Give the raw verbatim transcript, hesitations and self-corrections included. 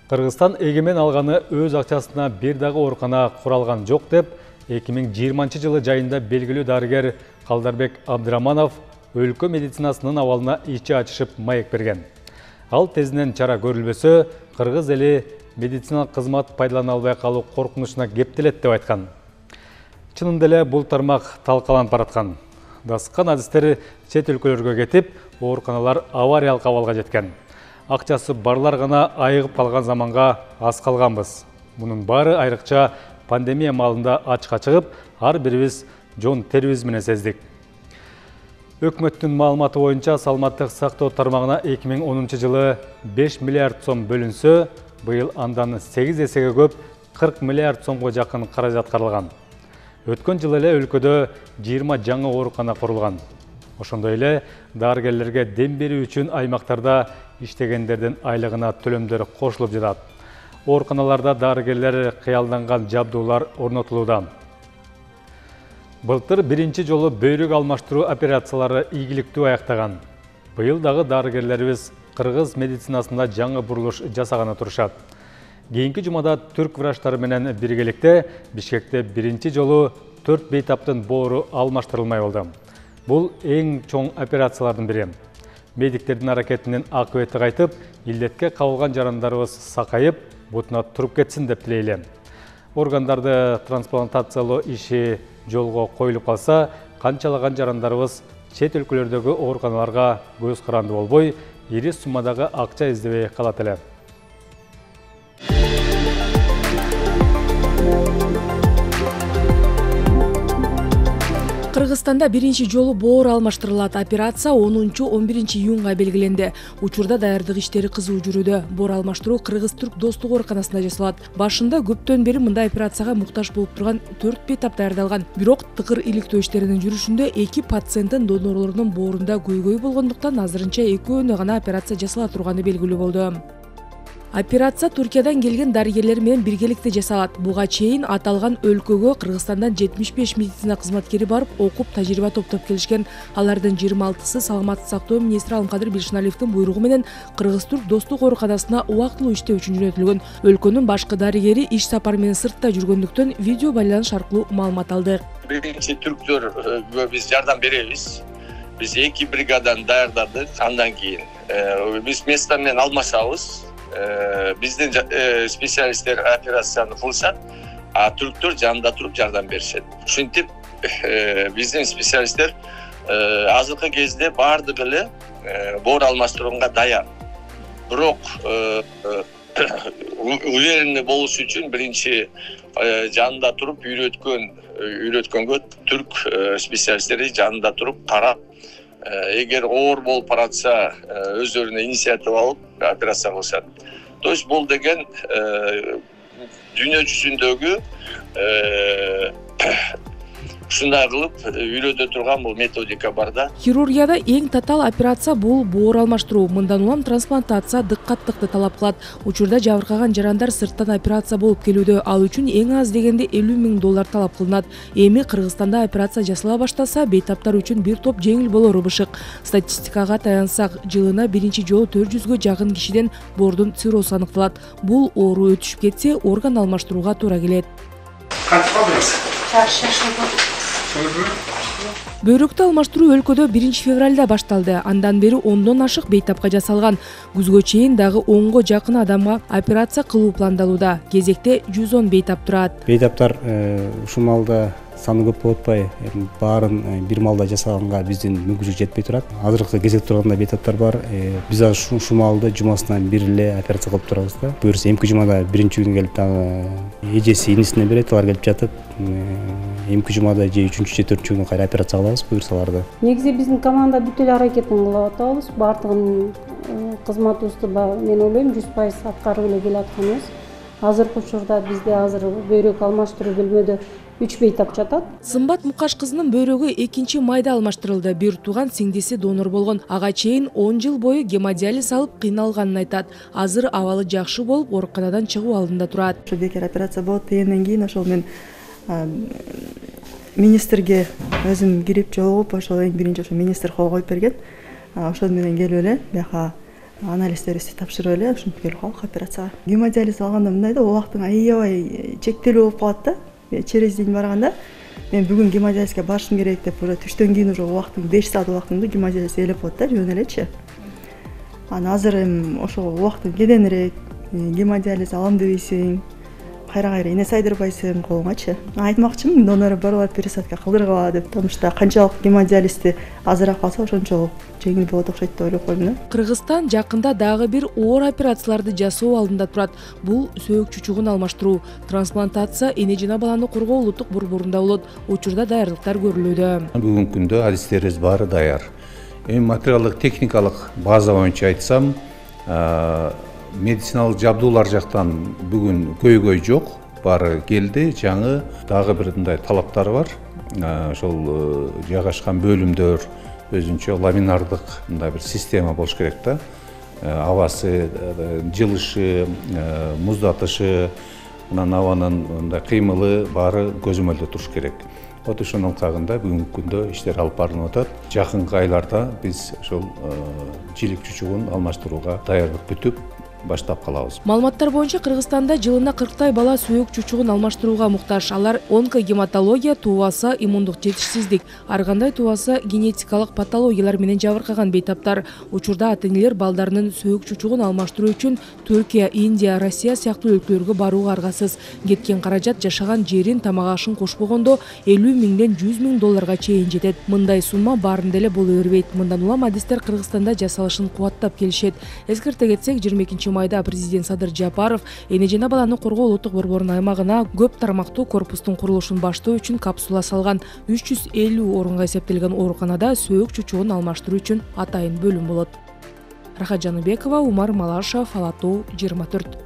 Кыргызстан эгемен алганы өз акчасына бир дагы оорукана куралган жок деп эки миң жыйырманчы жылы жайында белгилүү дарыгер Калдарбек Абдыраманов өлкө медицинасынын абалына ичи ачышып маек берген. Ал тезинен чара көрүлбөсө, кыргыз эли медициналык кызмат пайдалана албай калуу коркунучуна кептелет деп айткан. Чынында эле бул тармак талкаланып бараткан. Дасыккан адистер чет өлкөлөргө кетип, ооруканалар авариялык абалга жеткен. Акчасы барлар гана айыгып калган заманга аз калганбыз. Мунун баары айрыкча пандемия маалында ачыкка чыгып, ар бирибиз жон терибиз менен сездик. Өкмөттүн маалыматы боюнча саламаттык сактоо тармагына эки миң онунчу жылы беш миллиард сом бөлүнсө, быйыл андан сегиз эсеге көп кырк миллиард сомго жакын каражат каралган. Өткөн жылы эле өлкөдө жыйырма жаңы оорукана курулган. Ошондой эле дарыгерлерге дем берүү үчүн аймактарда иштегендердин айлыгына төлөмдөр кошулуп жатат. Ооруканаларда дарыгерлер кыялданган жабдуулар орнотулууда. Былтыр биринчи жолу бөйрөк алмаштыруу операциялары ийгиликтүү аяктаган. Быйыл дагы дарыгерлерибиз кыргыз медицинасында жаңы бурулуш жасаганы турушат. Кийинки жумада түрк врачтары менен биргеликте Бишкекте биринчи жолу төрт бейтаптын боору алмаштырылмай болду. Бул эң чоң операциялардын бири. Медиктердин аракетинин акыбети кайтып, илдетке кабылган жарандарыбыз сакайып, бутуна туруп кетсин деп тилейли. Органдарды трансплантациялоо иши жолго коюлуп калса, канчалаган жарандарыбыз чет өлкөлөрдөгү ооруканаларга көз каранды болбой, ири суммадагы акча издебей калат эле. Кыргызстанда биринчи жолу боор алмаштырылат. Операция онунчу он биринчи июнга белгиленди. Учурда даярдык иштери кызуу жүрүүдө. Боор алмаштыруу Кыргыз-Түрк достук ооруканасында жасалат. Башында көптөн бери мындай операцияга муктаж болуп турган төрт бейтап даярдалган. Бирок тыгыр иликтөө иштеринин жүрүшүндө эки пациенттин донорлорунун боорунда көйгөй болгондуктан азырынча экөөнө гана операция жасала турганы белгилүү болду. Операция Туркиядан келген дарыгерлер менен биргеликте жасалат. Буга чейин аталган өлкөгө Кыргызстандан жетимиш беш медицина кызматкери барып, окуп, тажрыйба топтоп келишкен. Алардын жыйырма алтысы саламаттык сактоо министри Алымкадыр Бишналиевдин буйругу менен Кыргыз-Түрк достук ооруканасына убактылуу иштөө үчүн жөнөтүлгөн. Өлкөнүн башкы дарыгери иш сапары менен сыртта жүргөндүктөн видео байланыш аркылуу маалымат алдык. Биринчи түрктөргө биз жардам беребиз. Биз эки бригадан даярдадык. Андан кийин биз место менен алмашабыз. Биздин специалисттер операцияны кылышат, а түрктөр жанында туруп жардам беришет. Ушинтип биздин специалисттер азыркы кезде баардыгы эле боор алмаштырууга даяр. Бирок уверенный болуш үчүн биринчи жанында туруп үйрөткөн үйрөткөнгө түрк специалисттери жанында туруп карап, эгер оор болуп баратса өздөрүнө инициатива алып операция кылышат. То есть бул деген дүйнө жүзүндөгү ушундай кылып үйрөтө турган бул методика бар да. Хирургияда эң татаал операция бул боор алмаштыруу. Мындан улам трансплантация дыккаттыкты талап кылат. Учурда жабыркаган жарандар сырттан операция болуп келүүдө. Ал үчүн эң аз дегенде элүү миң доллар талап кылынат. Эми Кыргызстанда операция жасала баштаса, бейтаптар үчүн бир топ жеңил болору бышык. Статистикага таянсак, жылына биринчи жолу төрт жүзгө жакын кишиден боордун циррозу аныкталат. Бул оору өтүшүп кетсе, орган алмаштырууга туура келет. Бөйрөктү алмаштыруу өлкөдө биринчи февралда башталды. Андан бери ондон ашык бейтапка жасалган. Күзгө чейин дагы онго жакын адамга операция кылуу пландалууда. Кезекте жүз он бейтап турат. Бейтаптар ушул маалда саны көп болуп атпай, баарын бир маалда жасаганга биздин мүмкүнчүлүк жетпей турат. Азыркы кезекте турганда бейтаптар бар. Биз азыр ушул маалда жумасынан бир эле операция кылып турабыз да. Буюрса эмки жумада биринчи күн келип дагы эжеси инисине берет, алар келип жатып, эмки жумада же үчүнчү же төртүнчү күнү кайра операция кылабыз буюрсаларды. Негизи биздин команда бүт эле аракетин кылып атабыз. Баардыгын кызматыбызды мен ойлойм жүз пайыз аткарып эле келатканбыз. Азыркы учурда бизде азыр бөйрөк алмаштыруу бөлмөдө үч бейтап жатат. Сымбат Мукаш кызынын бөйрөгү экинчи майда алмаштырылды. Бир тууган сиңдиси донор болгон. Ага чейин он жыл бою гемодиализ алып кыйналганын айтат. Азыр абалы жакшы болуп, ооруканадан чыгуу алдында турат. Ошо бекер операция болот дегенден кийин ошол мен министрге өзүм кирип жолугуп, ошол эң биринчи ошо министр кол коюп берген. Ошол менен келип эле бияка анализдерибизди тапшырып эле ушинтип келип калдык операцияга. Гемодиализ алганда мындай да, убактың аябай чектелүү болуп калат да. Через день барганда мен бүгүн гемодиализге барышым керек деп, уже түштөн кийин уже убактың беш саат убактымды гемодиализ ээлеп коет да, жөн элечи. Анан азыр эми ошол убактың кеденирээк, гемодиализ алам дебейсиң, кайра кайра эне сайдырбайсың колуңачы. Айтмакчымын, донор барып пересадка кылдыргыла деп, потому что канчалык гемодиализди азыраак алса ошончолук жеңил болот окшойт деп ойлоп койдум да. Кыргызстан жакында дагы бир оор операцияларды жасоо алдында турат. Бул сөөк чучугун алмаштыруу. Трансплантация эне жана баланы коргоо улуттук борборунда болот. Учурда даярдыктар көрүлүүдө. Бүгүнкү күндө адистерибиз баары даяр. Эми материалдык техникалык база боюнча айтсам, медициналык жабдуулар жактан бүгүн көйгөй жок, баары келди. Жаңы дагы бир мындай талаптар бар. Ошол жайгашкан бөлүмдөр өзүнчө ламинардык мындай бир система болуш керек да. Абасы, жылышы, муздатышы, анан абанын мындай кыймылы баары көзөмөлдө туруш керек. Вот ошонун кагында бүгүнкү күндө иштер алып барылып атат. Жакынкы айларда биз ошол жилик чучугун алмаштырууга даярдык бүтүп баштап калабыз. Маалыматтар боюнча Кыргызстанда жылына кырктай бала сөөк чучугун алмаштырууга муктаж. Алар онкогематология, туубасы, иммундук жетишсиздик, ар кандай туубасы генетикалык патологиялар менен жабыркаган бейтаптар. Учурда ата-энелер балдарынын сөөк чучугун алмаштыруу үчүн Түркия, Индия, Россия сыяктуу өлкөлөргө барууга аргасыз. Кеткен каражат жашаган жерин, тамак-ашын кошпогондо элүү миңден жүз миң долларга чейин жетет. Мындай сумма баарында эле боло бербейт. Мындан улам адистер Кыргызстанда жасалышын кубаттап келишет. Эскерте кетсек, жыйырма экинчи майда президент Садыр Жапаров эне жана баланы коргоо улуттук борборунун аймагына көп тармактуу корпустун курулушун баштоо үчүн капсула салган. үч жүз элүү орунга эсептелген ооруканада сөөк чучугун алмаштыруу үчүн атайын бөлүм болот. Рахат Жаныбекова, Умар Малашев, Ала Тоо, жыйырма төрт.